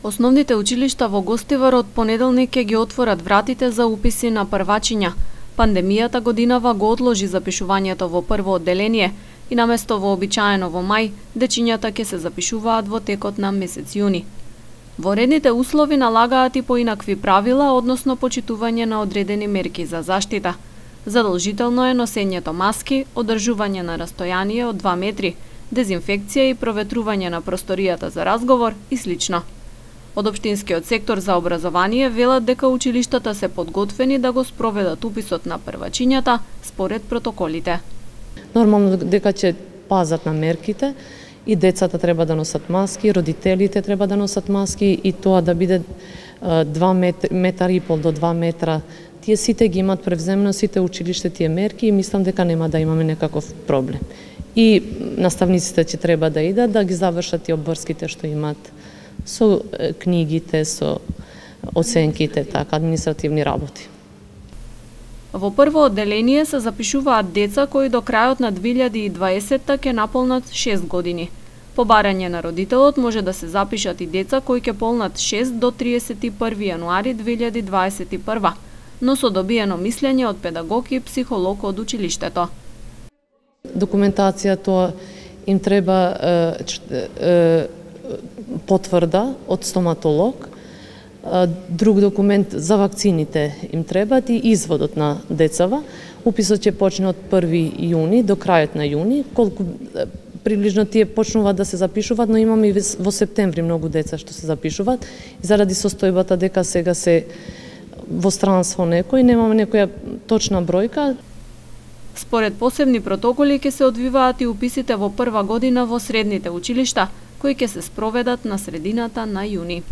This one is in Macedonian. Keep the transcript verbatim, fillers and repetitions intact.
Основните училишта во Гостивар од понеделник ќе ги отворат вратите за уписи на првачиња. Пандемијата годинава го одложи запишувањето во прво одделение и наместо вообичаено во мај, дечињата ќе се запишуваат во текот на месец јуни. Воредните услови налагаат и поинакви правила, односно почитување на одредени мерки за заштита. Задолжително е носењето маски, одржување на растојание од два метри, дезинфекција и проветрување на просторијата за разговор и слично. Од Општинскиот сектор за образование велат дека училиштата се подготвени да го спроведат уписот на првачињата според протоколите. Нормално дека ќе пазат на мерките и децата треба да носат маски, родителите треба да носат маски и тоа да биде два метра и пол до два метра. Тие сите ги имат превземено сите училиште тие мерки и мислам дека нема да имаме некаков проблем. И наставниците ќе треба да идат да ги завршат и обврските што имат со книгите, со оценките, така, административни работи. Во прво одделение се запишуваат деца кои до крајот на две илјади и дваесетта ќе наполнат шест години. По барање на родителот може да се запишат и деца кои ќе полнат шест до триесет и први јануари две илјади дваесет и прва, но со добиено мислење од педагог и психолог од училиштето. Документацијата им треба е, е, потврда од стоматолог, друг документ за вакцините им требат и изводот на децава. Уписот ќе почне од први јуни до крајот на јуни, колку приближно тие почнуваат да се запишуваат, но имаме и во септември многу деца што се запишуваат и заради состојбата дека сега се во странство некој, немаме некоја точна бројка. Според посебни протоколи ќе се одвиваат и уписите во прва година во средните училишта, кои ќе се спроведат на средината на јуни.